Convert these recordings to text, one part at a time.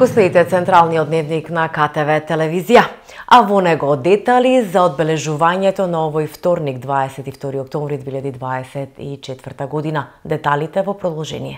Го следите централниот дневник на КТВ телевизија, а во него детали за одбележувањето на овој вторник 22 октомври 2024 година. Деталите во продолжение.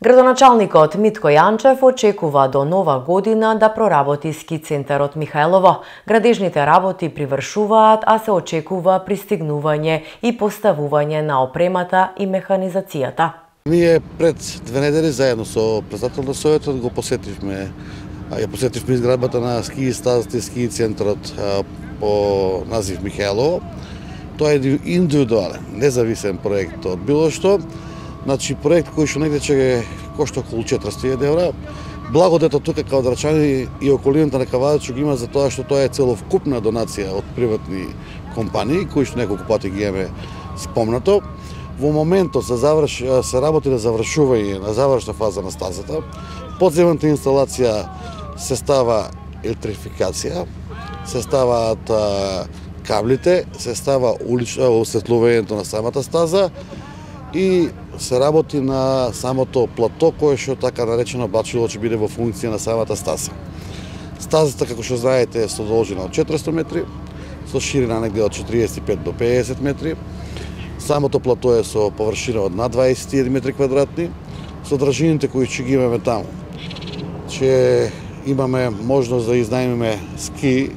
Градоначалникот Митко Јанчев очекува до нова година да проработи ски центарот Михаелово. Градежните работи привршуваат, а се очекува пристигнување и поставување на опремата и механизацијата. Ние пред 2 недели заедно со председател на Советот го посетивме изградбата на ски стазата и ски центарот по назив Михаелово. Тоа е индивидуален, независен проект од било што. Значи проект кој што негде ќе кошта околу 400.000 евра. Благодетот тука као Драчани и околината на Кавадачи го има за тоа што тоа е целовкупна донација од приватни компании кои што неколку пати ги имаме спомнато. Во моментот се работи на завршување на завршна фаза на стазата. Подземната инсталација се става електрификација, се ставаат каблите, се става осветлувањето на самата стаза и се работи на самото плато кое што така наречено бачило ќе биде во функција на самата стаза. Стазата, како што знаете, е со должина од 400 метри, со ширина негде од 45 до 50 метри. Самото плато е со површина од над 21 метри квадратни. Содржините кои ќе ги имаме таму, ќе имаме можност да изнајмиме ски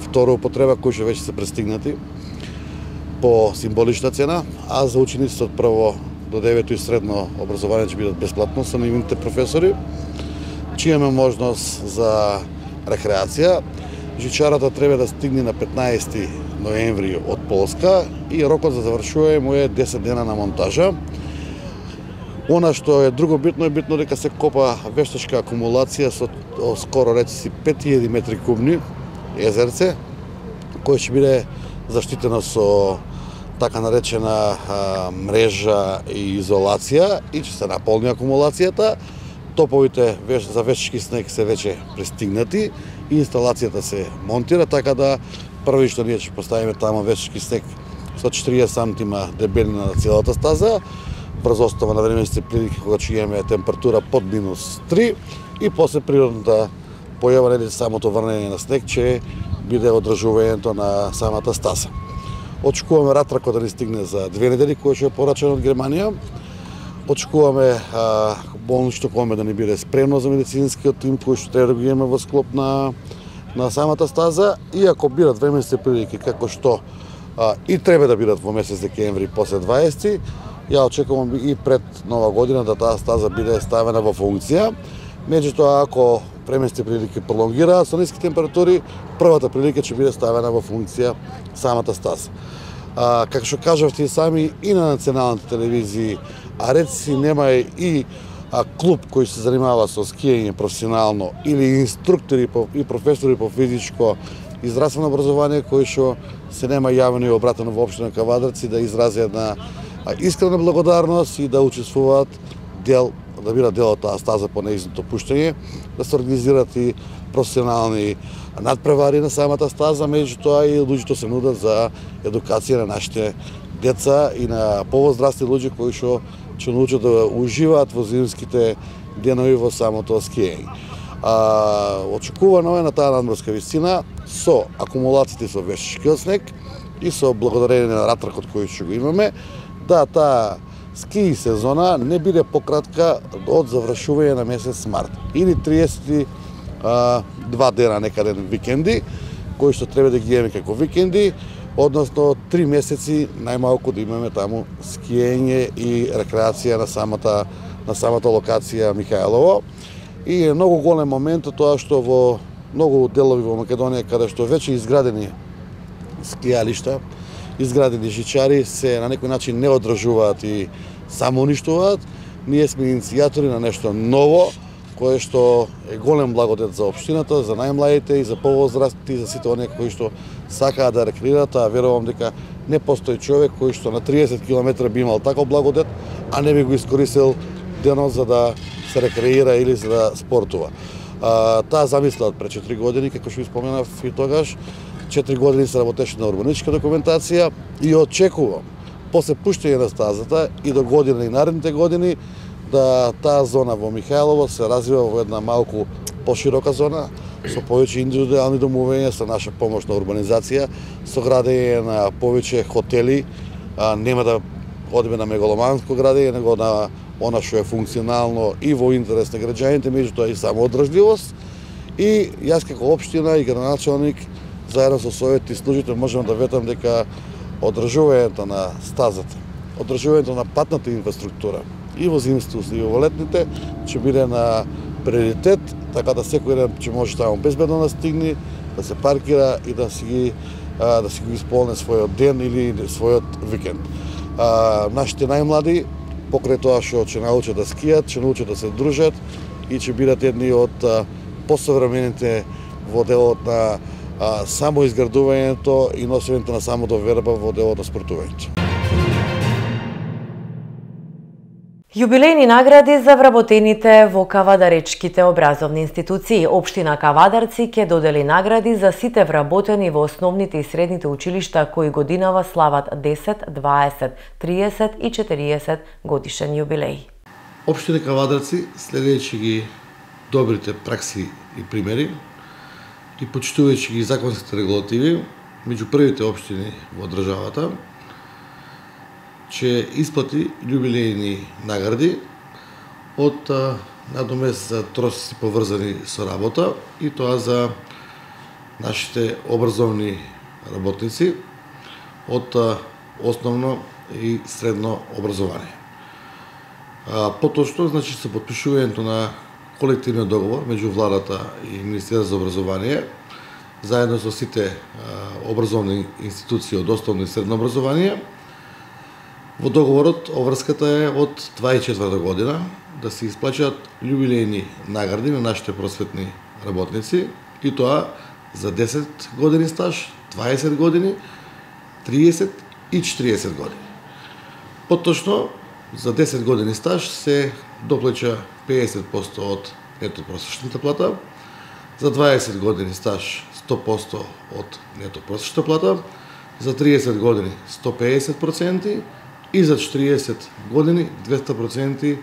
втора употреба кои што веќе се пристигнати по символична цена, а за учениците од прво до 9 и средно образование ќе бидат бесплатно со нивните професори. Ќе имаме можност за рекреација. Жичарата треба да стигне на 15 ноември од Полска и рокот за завршување му е 10 дена на монтажа. Она што е друго битно е дека се копа вештачка акумулација со скоро речиси 5000 метри кубни езерце, кој ќе биде заштитено со така наречена мрежа и изолација и ќе се наполни акумулацијата. Топовите за вештачки снег се веќе пристигнати и инсталацијата се монтира, така да први што ние ќе поставиме таму вештачки снег со 40 сантима дебелина на целата стаза, врз основа на временските прилики кога ќе имаме температура под -3 и после природната појава или самото врнење на снег ќе биде одржувањето на самата стаза. Очекуваме ратракот да ни стигне за 2 недели, кој ќе е порачен од Германија. Очекуваме болничното коме да ни биде спремно за медицинскиот тим кој што треба да го имаме во склоп на самата стаза и ако бидат временските прилики како што и треба да бидат во месец декември после 20, ја очекувам и пред нова година да таа стаза биде ставена во функција. Меѓутоа, ако временските прилики пролонгираат со ниски температури, првата прилика ќе биде ставена во функција самата стаза. Како што кажавте и сами и на националните телевизии, а реци нема и клуб кој се занимава со скијање професионално или инструктори и професори по физичко и здравствено образование кои што се нема јавено и обратено во општина Кавадарци да изразат една искрена благодарност и да учествуваат да бидат дел од таа стаза по нејзиното пуштање, да се организираат и професионални надпревари на самата стаза, меѓутоа и луѓето се нудат за едукација на нашите деца и на повозрасни луѓе кои што ќе научат да уживаат во зимските денови во самото скијање. Очекувано е на таа надморска висина со акумулациите со вештачкиот снег и со благодарение на ратракот кој ќе го имаме, да таа ски сезона не биде пократка од завршување на месец март или 32 дена некаден викенди, кои што треба да ги имаме како викенди, односно 3 месеци најмалку да имаме таму скијање и рекреација на самата локација Михаелово. И е многу голем момент тоа што во многу делови во Македонија каде што веќе изградени скијалишта, изградени жичари се на некој начин не одржуваат и само уништуваат. Ние сме иницијатори на нешто ново, кое што е голем благодет за општината, за најмладите и за повозрастните и за сите оние кои што сакаат да рекреираат, а верувам дека не постои човек кој што на 30 км би имал таков благодет, а не би го искористил денот за да се рекреира или за да спортува. Таа замисла од пред 4 години, како што ви споменав и тогаш, 4 години се работеше на урбанистичка документација и очекувам после пуштање на стазата и до година и наредните години да таа зона во Михајлово се развива во една малку поширока зона, со повеќе индивидуални домовења, со наша помош на урбанизација, со градење на повеќе хотели, нема да одиме на мегаломанско градење, него на она што е функционално и во интерес на граѓаните, меѓутоа и самоодржливост. И јас како општина и градоначалник, заедно со своите служители, можам да ветам дека одржувањето на стазата, одржувањето на патната инфраструктура и во зимството и во летните ќе биде на приоритет, така да секој ден ќе може таму безбедно да стигне, да се паркира и да си го исполни својот ден или својот викенд. Нашите најмлади, покрај тоа што ќе научат да скијат, ќе научат да се дружат и ќе бидат едни од посовремените во делот на самоизградувањето и носењето на самодоверба во делот на спортувањето. Јубилејни награди за вработените во кавадаречките образовни институции. Општина Кавадарци ќе додели награди за сите вработени во основните и средните училишта кои годинава слават 10, 20, 30 и 40 годишен јубилеј. Општина Кавадарци, следејќи ги добрите пракси и примери и почитувајќи ги законските регулативи, меѓу првите општини во државата, ќе исплати јубилејни награди од надомест за трошоци поврзани со работа и тоа за нашите образовни работници од основно и средно образование. Поточно, значи, со подпишувањето на колективниот договор меѓу владата и Министерството за образование, заедно со сите образовни институции од основно и средно образование, во договорот обврската е од 2024 година да се исплачаат јубилејни награди на нашите просветни работници и тоа за 10 години стаж, 20 години, 30 и 40 години. Поточно, за 10 години стаж се доплаќа 50% од нето просечната плата, за 20 години стаж 100% од нето просечната плата, за 30 години 150% и за 40 години 200%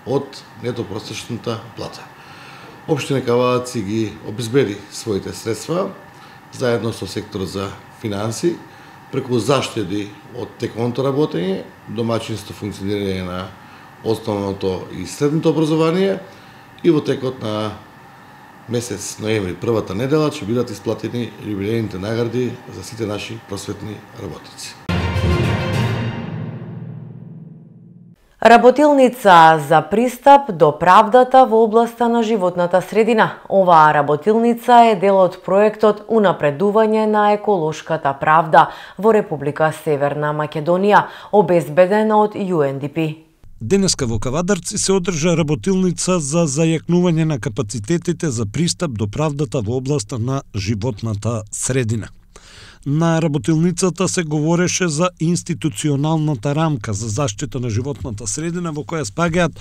од нето просечната плата. Општина Кавадарци ги обезбеди своите средства заедно со секторот за финанси, преку заштеди од теконото работење, домаќинство функционирање на основното и средното образование и во текот на месец ноември, првата недела, ќе бидат исплатени јубилејните награди за сите наши просветни работници. Работилница за пристап до правдата во областа на животната средина. Оваа работилница е дел од проектот Унапредување на еколошката правда во Република Северна Македонија, обезбедена од UNDP. Денеска во Кавадарци се одржа работилница за зајакнување на капацитетите за пристап до правдата во областа на животната средина. На работилницата се говореше за институционалната рамка за заштита на животната средина во која спагаат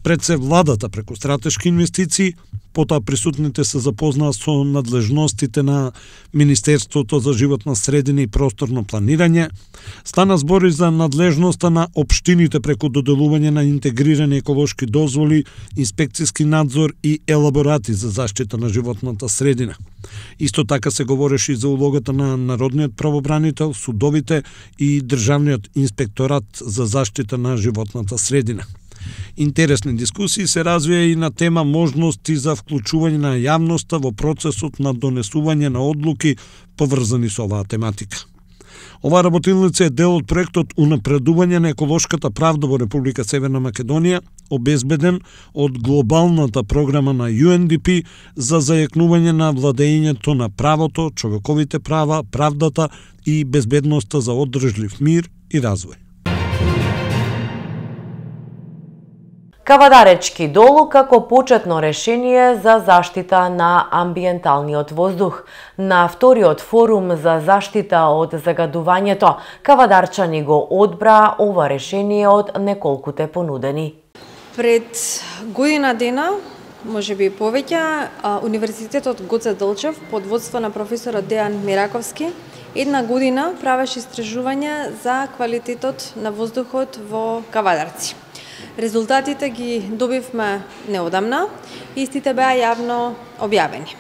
пред се владата преку стратешки инвестиции, потоа присутните се запознаат со надлежностите на Министерството за животна средина и просторно планирање, стана збори за надлежноста на општините преку доделување на интегрирани еколошки дозволи, инспекцијски надзор и елаборати за заштита на животната средина. Исто така се говореше и за улогата на Народниот правобранител, судовите и Државниот инспекторат за заштита на животната средина. Интересни дискусии се развија и на тема можности за вклучување на јавноста во процесот на донесување на одлуки поврзани со оваа тематика. Оваа работилница е дел од проектот Унапредување на еколошката правда во Република Северна Македонија, обезбеден од глобалната програма на UNDP за зајакнување на владењето на правото, човековите права, правдата и безбедноста за одржлив мир и развој. Кавадаречки долу како почетно решение за заштита на амбиенталниот воздух. На вториот форум за заштита од загадувањето, кавадарчани го одбра ова решение од неколкуте понудени. Пред година дена, може би повеќе, Универзитетот Гоце Делчев под водство на професорот Дејан Мираковски една година правеше истражување за квалитетот на воздухот во Кавадарци. Резултатите ги добивме неодамна, истите беа јавно објавени.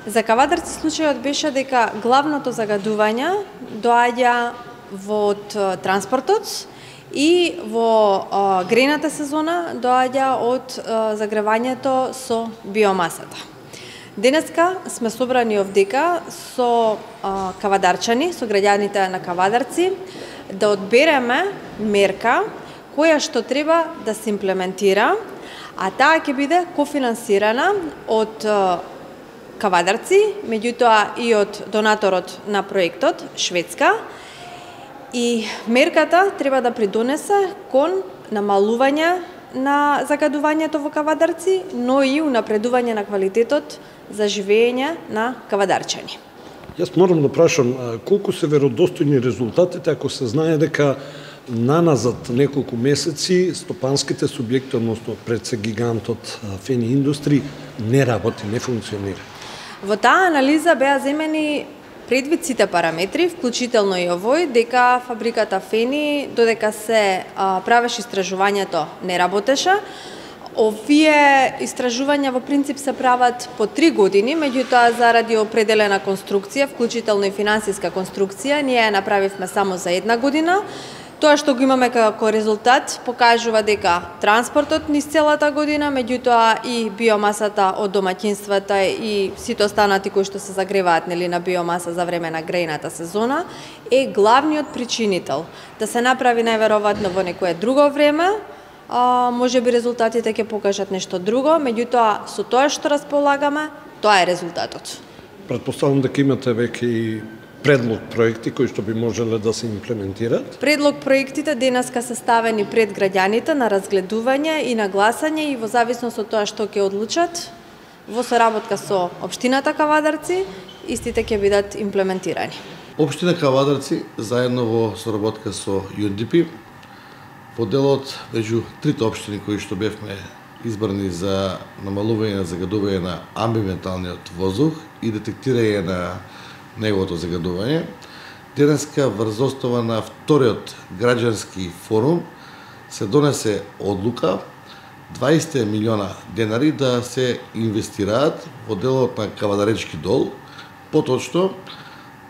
За кавадарци случајот беше дека главното загадување доаѓа од транспортот и во грејната сезона доаѓа од загревањето со биомасата. Денеска сме собрани овдека со кавадарчани, со граѓаните на Кавадарци, да одбереме мерка која што треба да се имплементира, а таа ќе биде кофинансирана од Кавадарци, меѓутоа и од донаторот на проектот, Шведска, и мерката треба да придонесе кон намалување на загадувањето во Кавадарци, но и унапредување на квалитетот за живење на кавадарчани. Јас морам да прашам, колку се веродостојни резултатите ако се знае дека наназад неколку месеци стопанските субјекти, односно пред се гигантот Фени Индустри, не работи, не функционира? Во таа анализа беа земени предвид сите параметри, вклучително и овој, дека фабриката Фени, додека се правеше истражувањето, не работеше. Овие истражувања во принцип се прават по 3 години, меѓутоа заради определена конструкција, вклучително и финансиска конструкција, ние ја направивме само за 1 година. Тоа што го имаме како резултат покажува дека транспортот низ целата година, меѓутоа и биомасата од домаќинствата и сите останати кои што се загреваат на биомаса за време на грејната сезона е главниот причинител. Да се направи најверојатно во некое друго време, може би резултатите ќе покажат нешто друго, меѓутоа со тоа што располагаме, тоа е резултатот. Претпоставам дека имате веќе и предлог проекти кои што би можеле да се имплементираат? Предлог проектите денеска се ставени пред граѓаните на разгледување и на гласање и во зависност од тоа што ќе одлучат, во соработка со општината Кавадарци, истите ќе бидат имплементирани. Општина Кавадарци заедно во соработка со UNDP во делот меѓу трите општини кои што бевме избрани за намалување на загадување на амбиенталниот воздух и детектирање на неговото загадување, денеска врз основа на вториот граѓански форум се донесе одлука 20 милиона денари да се инвестираат во делот на Кавадаречки дол, поточно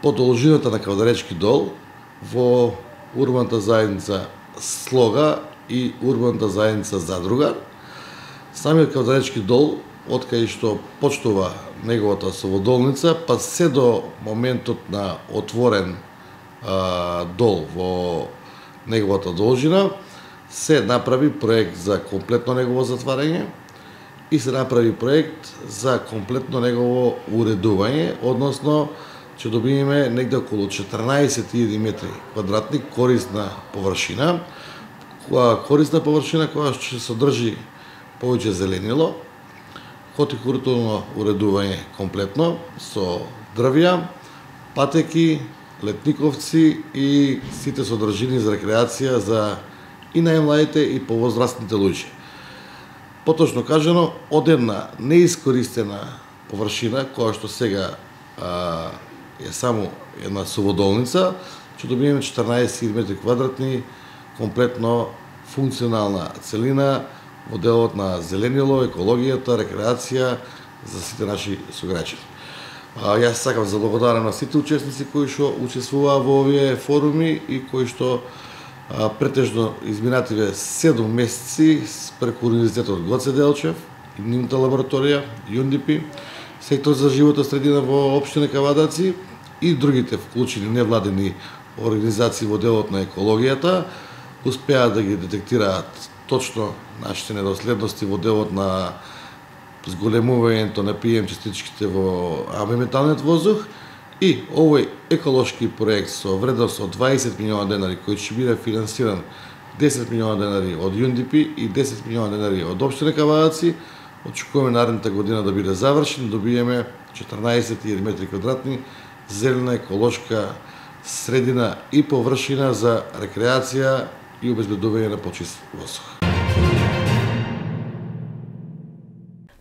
по должината на Кавадаречки дол во урбаната заедница Слога и урбаната заедница Задруга. Самиот Кавадаречки дол, откај што почнува неговата соводолница, па се до моментот на отворен дол во неговата должина, се направи проект за комплетно негово затварање и се направи проект за комплетно негово уредување, односно ќе добиеме негде околу 14.000 метри квадратни корисна површина, која ќе содржи повеќе зеленило, хотикултурно уредување комплетно со дрвја, патеки, летниковци и сите содржини за рекреација за и најмладите и повозрастните луѓе. Поточно кажано, од една неискористена површина, која што сега е само една соводолница, ќе добиеме 14 метри квадратни, комплетно функционална целина во делот на зеленило, екологијата, рекреација за сите наши сограѓани. Јас сакам да благодарам на сите учесници кои што учествуваа во овие форуми и кои што претежно изминативе 7 месеци преку Универзитетот Гоце Делчев и нивната лабораторија, UNDP, сектор за животна средина во општина Кавадарци и другите вклучени невладени организации во делот на екологијата, успеа да ги детектираат точно нашите недоследности во делот на зголемувањето на PM частичките во амбиенталниот воздух и овој еколошки проект со вредност од 20 милиона денари кој ќе биде финансиран 10 милиона денари од UNDP и 10 милиона денари од општина Кавадарци, очекуваме наредната година да биде завршен, добиеме 14.000 метри квадратни зелена еколошка средина и површина за рекреација и обезбедување на почист воздух.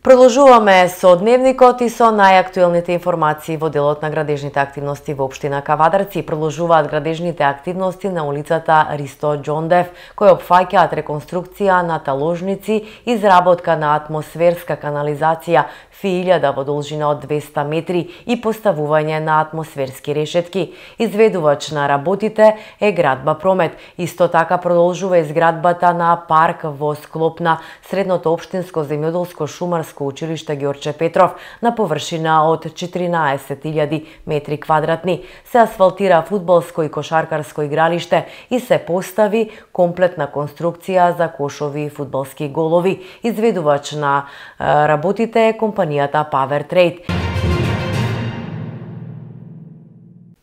Продолжуваме со дневникот и со најактуелните информации во делот на градежните активности во општина Кавадарци. Продолжуваат градежните активности на улицата Ристо Џондев, кои опфаќаат реконструкција на таложници, изработка на атмосферска канализација, фијилјада во должина од 200 метри и поставување на атмосферски решетки. Изведувач на работите е Градба Промет. Исто така продолжува изградбата на парк во склоп на Средното општинско земјоделско шумарско училиште Ѓорче Петров на површина од 14.000 метри квадратни. Се асфалтира фудбалско и кошаркарско игралиште и се постави комплетна конструкција за кошови и фудбалски голови. Изведувач на работите е компанијата Power Trade.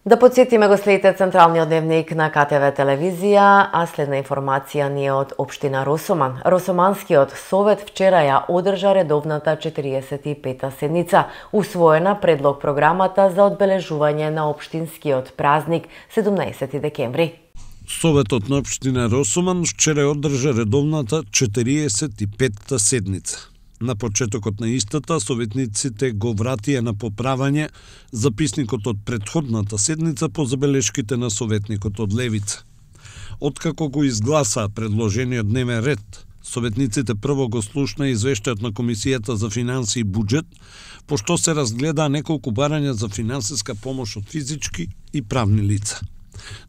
Да подсетиме го следите централниот дневник на КТВ телевизија, а следна информација ни е од општина Росоман. Росоманскиот совет вчера ја одржа редовната 45-та седница, усвоена предлог програмата за одбележување на општинскиот празник 17 декември. Советот на општина Росоман вчера одржа редовната 45-та седница. На почетокот на истата, советниците го вратија на поправање записникот од претходната седница по забелешките на советникот од Левица. Откако го изгласаа предложениот дневен ред, советниците прво го слушна извештајот на Комисијата за финанси и буџет, пошто се разгледаа неколку барања за финансиска помош од физички и правни лица.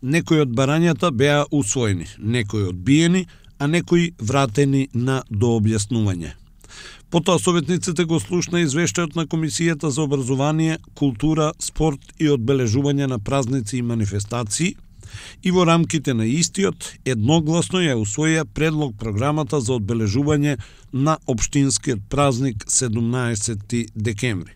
Некои од барањата беа усвоени, некои одбиени, а некои вратени на дообјаснување. Потоа советниците го слушна извештајот на Комисијата за образование, култура, спорт и одбележување на празници и манифестации и во рамките на истиот едногласно ја усвоија предлог програмата за одбележување на општинскиот празник 17 декември.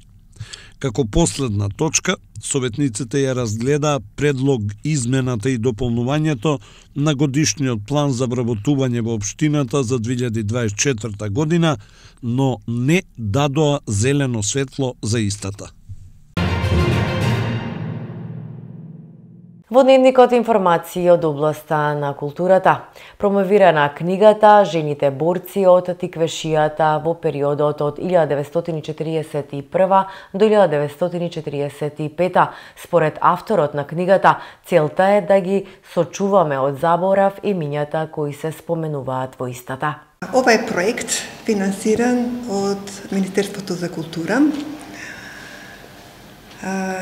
Како последна точка, советниците ја разгледаа предлог измената и дополнувањето на годишниот план за вработување во општината за 2024 година, но не дадоа зелено светло за истата. Во дневникот информации од областа на културата. Промовирана книгата «Жените борци од тиквешијата» во периодот од 1941 до 1945. Според авторот на книгата, целта е да ги сочуваме од заборав имињата кои се споменуваат во истата. Ова е проект финансиран од Министерството за култура.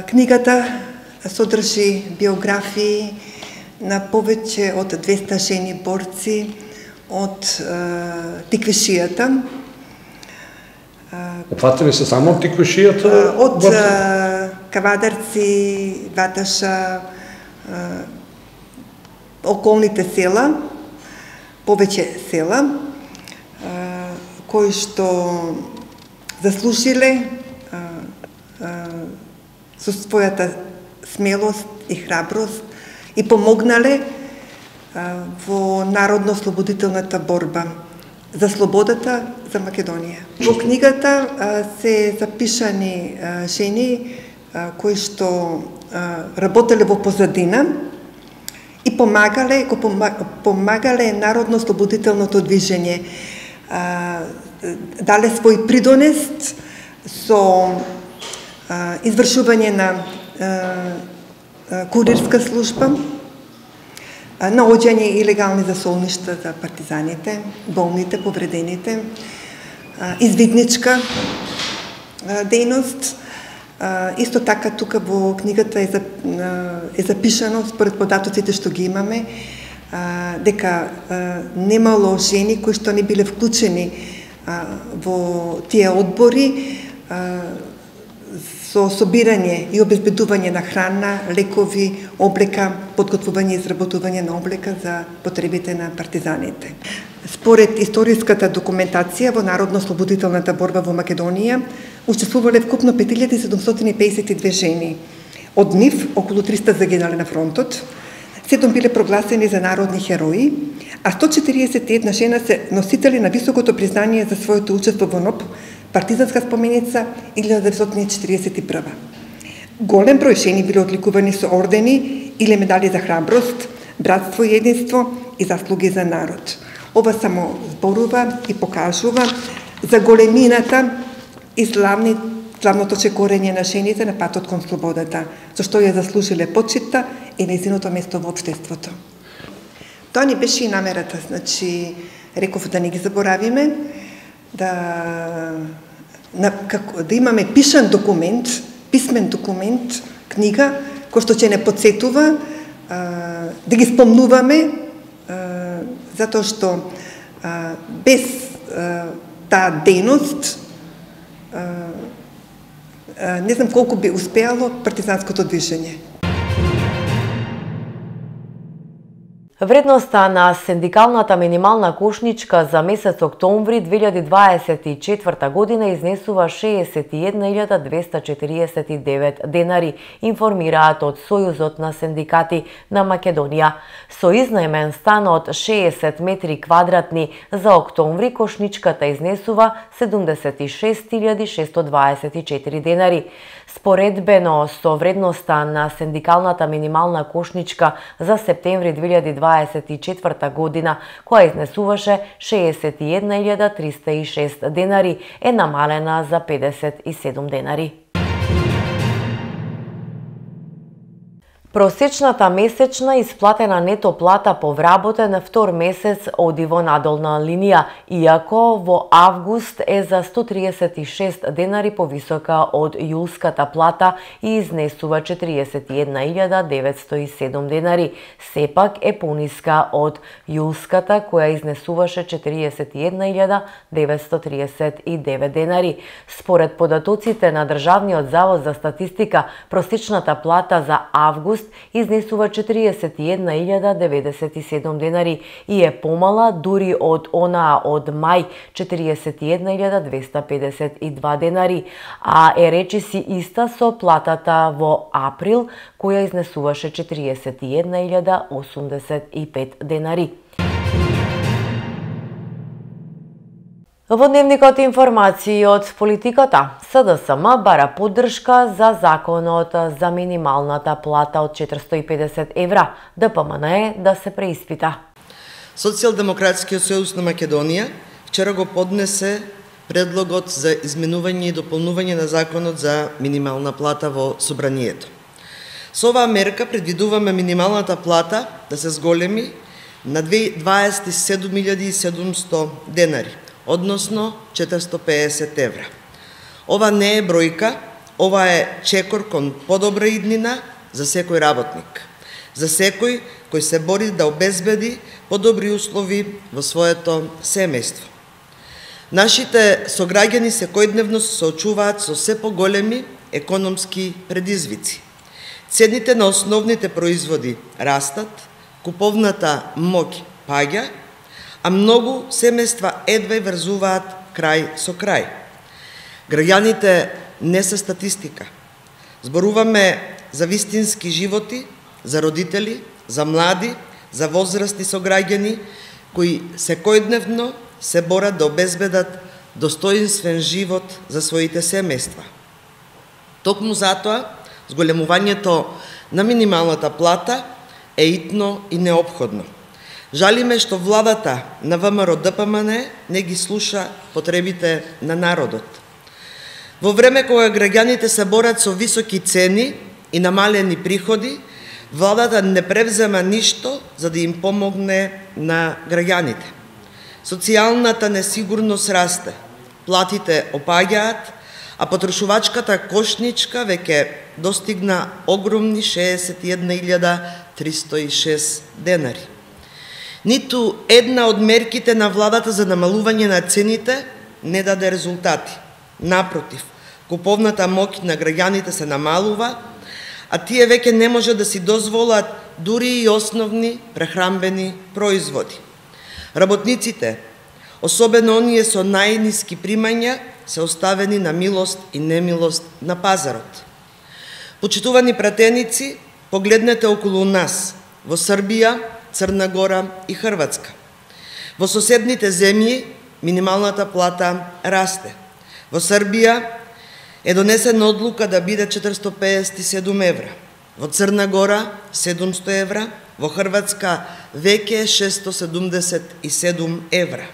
Книгата содржи биографии на повеќе од 200 жени борци од тиквешијата. Фатили се само тиквешијата? Од Кавадарци, Ваташа, околните села, повеќе села, кои што заслужиле со својата смелост и храброст и помогнале во народно-слободителната борба за слободата за Македонија. Во книгата се запишани жени кои што работеле во позадина и помагале народно-слободителното движење, дале свој придонес со извршување на курирска служба, наоѓање илегални засолништа за партизаните, болните, повредените, извидничка дејност. Исто така тука во книгата е запишано, според податоците што ги имаме, дека немало жени кои што не биле вклучени во тие одбори со собирање и обезбедување на храна, лекови, облека, подготвување и изработување на облека за потребите на партизаните. Според историската документација во народно-слободителната борба во Македонија учествувале вкупно 5752 жени. Од нив околу 300 загинале на фронтот, 7 биле прогласени за народни херои, а 141 жена се носители на високото признание за своето учество во НОБ, партизанска споменица 1941. Голем број жени биле одликувани со ордени или медали за храброст, братство и единство и заслуги за народ. Ова само зборува и покажува за големината и славното чекорење на жените на патот кон слободата, зашто ја заслужиле почита и нејзиното место во општеството. Тоа ни беше и намерата, значи, реков да не ги заборавиме, да имаме пишан документ, писмен документ, книга, кој што ќе не подсетува, да ги спомнуваме, затоа што без таа дејност не знам колку би успеало партизанското движење. Вредноста на синдикалната минимална кошничка за месец октомври 2024 година изнесува 61.249 денари, информираат од Сојузот на синдикати на Македонија. Со изнаемен стан од 60 метри квадратни за октомври, кошничката изнесува 76.624 денари. Споредбено со вредноста на синдикалната минимална кошничка за септември 2024 година, која изнесуваше 61.306 денари, е намалена за 57 денари. Просечната месечна исплатена нето плата по вработен втор месец оди во надолна линија, иако во август е за 136 денари повисока од јулската плата и изнесува 41.907 денари. Сепак е пониска од јулската, која изнесуваше 41.939 денари. Според податоците на Државниот завод за статистика, просечната плата за август изнесува 41.097 денари и е помала дури од онаа од мај 41.252 денари, а е речиси иста со платата во април, која изнесуваше 41.085 денари. Во дневникот информации од политиката, СДСМ бара поддршка за законот за минималната плата од 450 евра. ДПМН е да се преиспита. Социјалдемократскиот сојуз на Македонија вчера го поднесе предлогот за изменување и дополнување на законот за минимална плата во собранието. Со оваа мерка предвидуваме минималната плата да се зголеми на 27.700 денари, односно 450 евра. Ова не е бројка, ова е чекор кон подобра иднина за секој работник, за секој кој се бори да обезбеди подобри услови во своето семејство. Нашите сограѓани секојдневно се соочуваат со се поголеми економски предизвици. Цените на основните производи растат, куповната моќ паѓа, а многу семејства едва врзуваат крај со крај. Граѓаните не се статистика. Зборуваме за вистински животи, за родители, за млади, за возрастни сограѓани кои секојдневно се борат да обезбедат достоинствен живот за своите семејства. Токму затоа, зголемувањето на минималната плата е итно и неопходно. Жалиме што владата на ВМРО ДПМН не ги слуша потребите на народот. Во време кога граѓаните се борат со високи цени и намалени приходи, владата не превзема ништо за да им помогне на граѓаните. Социјалната несигурност расте, платите опаѓаат, а потрошувачката кошничка веќе достигна огромни 61.306 денари. Ниту една од мерките на владата за намалување на цените не даде резултати. Напротив, куповната моќ на граѓаните се намалува, а тие веќе не може да си дозволат дури и основни прехранбени производи. Работниците, особено оние со најниски примања, се оставени на милост и немилост на пазарот. Почитувани пратеници, погледнете околу нас, во Србија, Црна Гора и Хрватска. Во соседните земји минималната плата расте. Во Србија е донесена одлука да биде 457 евра. Во Црна Гора 700 евра, во Хрватска веќе 677 евра.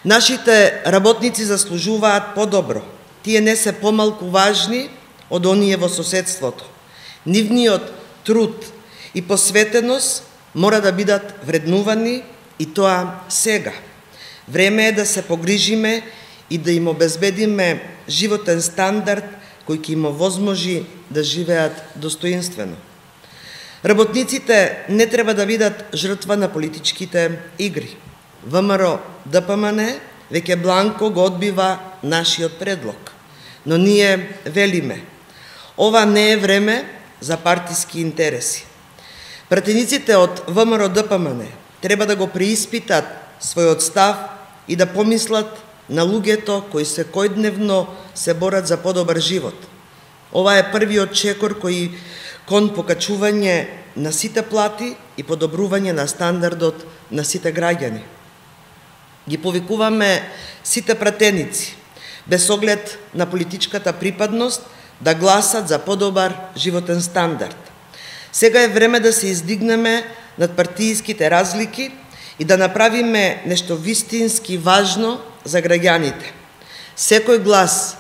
Нашите работници заслужуваат подобро, тие не се помалку важни од оние во соседството. Нивниот труд и посветеност мора да бидат вреднувани и тоа сега. Време е да се погрижиме и да им обезбедиме животен стандард кој ќе им овозможи да живеат достоинствено. Работниците не треба да бидат жртва на политичките игри. ВМРО ДПМН веќе бланко го одбива нашиот предлог. Но ние велиме, ова не е време за партиски интереси. Пратениците од ВМРО ДПМН треба да го преиспитат својот став и да помислат на луѓето кои секојдневно се борат за подобар живот. Ова е првиот чекор кој кон покачување на сите плати и подобрување на стандардот на сите граѓани. Ги повикуваме сите пратеници, без оглед на политичката припадност, да гласат за подобар животен стандард. Сега е време да се издигнеме над партииските разлики и да направиме нешто вистински важно за граѓаните. Секој глас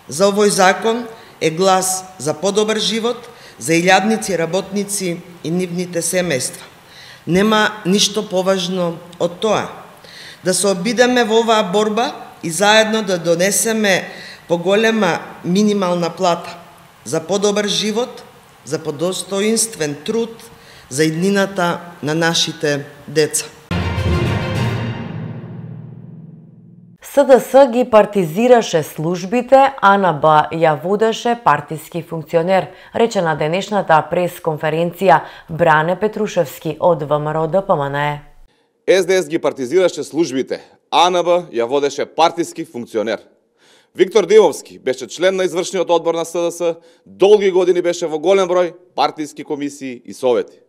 за овој закон е глас за подобар живот, за илјадници работници и нивните семејства. Нема ништо поважно од тоа. Да се обидеме во оваа борба и заедно да донесеме поголема минимална плата за подобар живот, за подостоинствен труд, за иднината на нашите деца. СДС ги партизираше службите, а НБ ја водеше партиски функционер, рече на денешната прес-конференција Бране Петрушевски од ВМРО ДПМН. СДС ги партизираше службите, АНБ ја водеше партиски функционер. Виктор Димовски беше член на извршниот одбор на СДС, долги години беше во голем број партиски комисии и совети.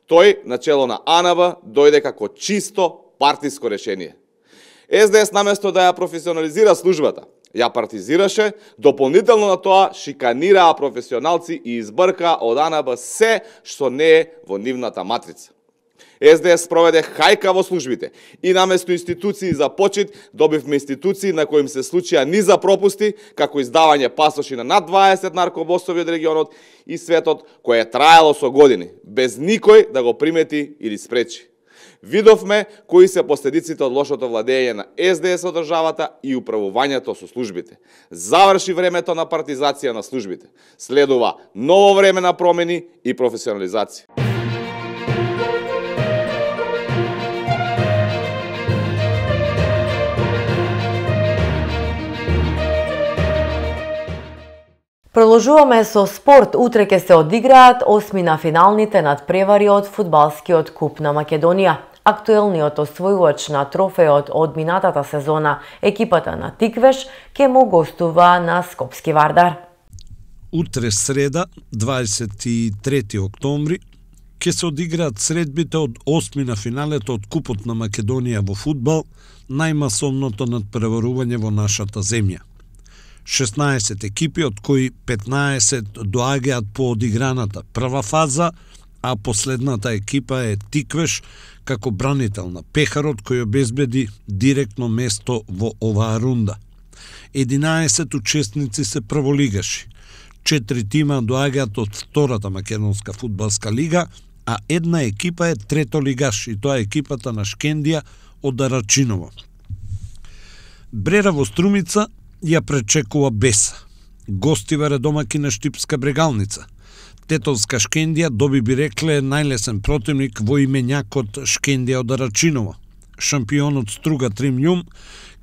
Тој, начело на АНБ, дојде како чисто партиско решение. СДС наместо да ја професионализира службата, ја партизираше, дополнително на тоа шиканираа професионалци и избрка од АНБ се што не е во нивната матрица. СДС проведе хајка во службите и наместо институции за почит, добивме институции на кои им се случија низа пропусти, како издавање пасоши на над 20 наркобосови од регионот и светот, кое е траело со години, без никој да го примети или спречи. Видовме кои се последиците од лошото владење на СДС од државата и управувањето со службите. Заврши времето на партизација на службите. Следува ново време на промени и професионализација. Продолжуваме со спорт. Утре ќе се одиграат осми на финалните надпревари од фудбалскиот куп на Македонија. Актуелниот освојувач на трофеот од минатата сезона, екипата на Тиквеш, ќе му гостува на Скопски Вардар. Утре среда, 23 октомври, ќе се одиграат средбите од осми на финалето од Купот на Македонија во фудбал, најмасовното надпреварување во нашата земја. 16 екипи, од кои 15 доаѓаат по одиграната прва фаза, а последната екипа е Тиквеш, како бранител на Пехарот, кој обезбеди директно место во оваа рунда. 11 учесници се прволигаши, 4 тима доаѓаат од втората македонска фудбалска лига, а една екипа е третолигаш, и тоа е екипата на Шкендија од Арачиново. Брера во Струмица ја пречекува Беса. Гостивар е домаки на Штипска Брегалница. Тетовска Шкендија доби, би рекле, најлесен противник во именјакот Шкендија од Арачиново. Шампионот Струга Тримјум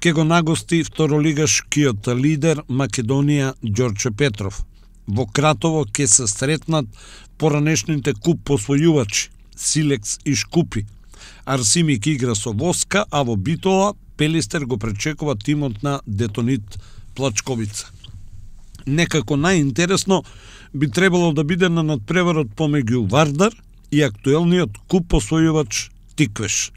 ќе го нагости второлигашкиот лидер Македонија Ѓорче Петров. Во Кратово ќе се сретнат поранешните куп посвојувачи Силекс и Шкупи. Арсимик игра со Воска, а во Битола Пелистер го пречекува тимот на Детонит Плачковица. Некако најинтересно би требало да биде на надпреварот помеѓу Вардар и актуелниот куп посвојувач Тиквеш.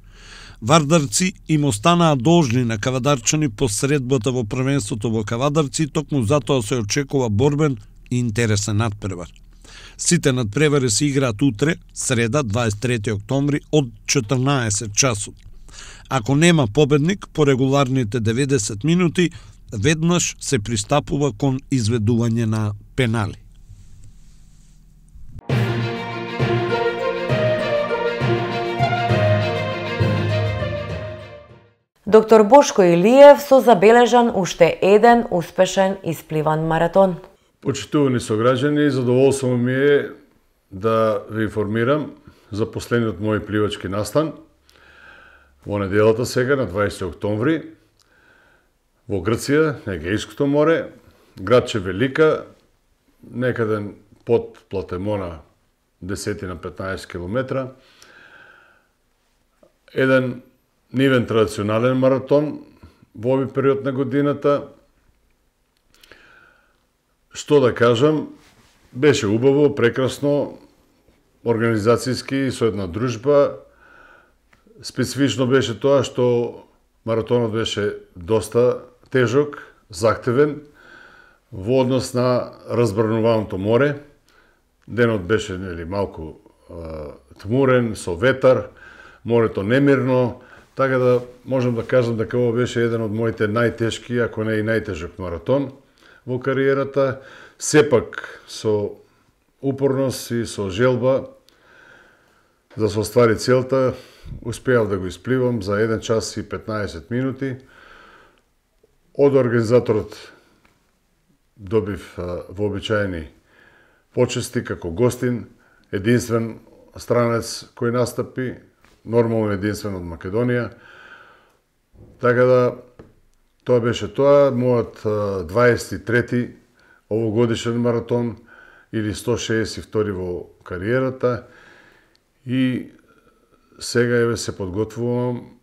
Вардарци им останаа должни на кавадарчани по средбата во првенството во Кавадарци, токму затоа се очекува борбен и интересен надпревар. Сите надпревари се играат утре, среда, 23 октомври, од 14 часот. Ако нема победник по регуларните 90 минути, веднаш се пристапува кон изведување на пенали. Доктор Бошко Илиев со забележан уште еден успешен испливан маратон. Почитувани сограѓани, задоволство ми е да ве информирам за последниот мој пливачки настан во неделата сега на 20 октомври во Грција, на Егејското море, градче Велика, некаде под Платемона 10 на 15 километра. Еден нивен традиционален маратон во овој период на годината. Што да кажам, беше убаво, прекрасно, организацијски со една дружба. Специфично беше тоа што маратонот беше доста тежок, захтевен, во однос на разбрануваното море. Денот беше малку тмурен, со ветар, морето немирно, така да можам да кажам дека ова беше еден од моите најтешки, ако не и најтежок маратон во кариерата. Сепак со упорност и со желба да се оствари целта, успеав да го испливам за 1 час и 15 минути. Од организаторот добив вообичаени почести како гостин, единствен странец кој настапи, нормално единствен од Македонија. Така да, тоа беше тоа, мојот 23-ти овогодишен маратон или 162 во кариерата и сега еве се подготвувам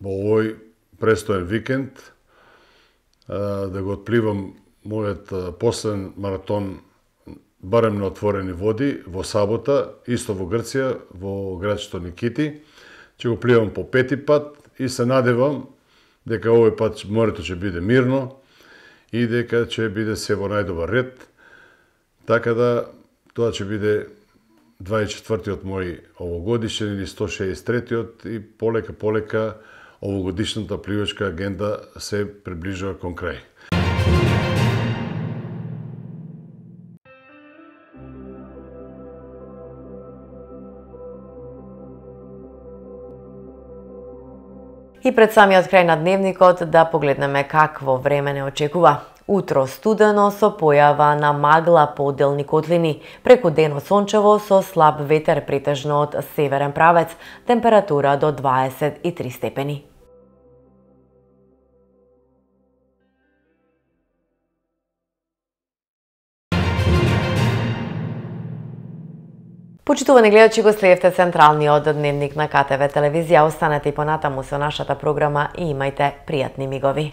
во овој престоен викенд да го отпливам мојот последен маратон барем на отворени води во сабота, исто во Грција, во градчето Никити. Ќе го пливам по 5-ти пат и се надевам дека овој пат морето ќе биде мирно и дека ќе биде се во најдобар ред. Така да тоа ќе биде 24-тиот мој овогодишен или 163-тиот и полека овогодишната пливачка агенда се приближува кон крај. И пред самиот крај на дневникот да погледнеме какво време не очекува. Утро студено со појава на магла по отделни котлини, преку денот сончево со слаб ветер претежно од северен правец, температура до 23 степени. Почитувани гледачи, го следевте централниот дневник на КТВ телевизија. Останете и понатаму со нашата програма и имајте пријатни мигови.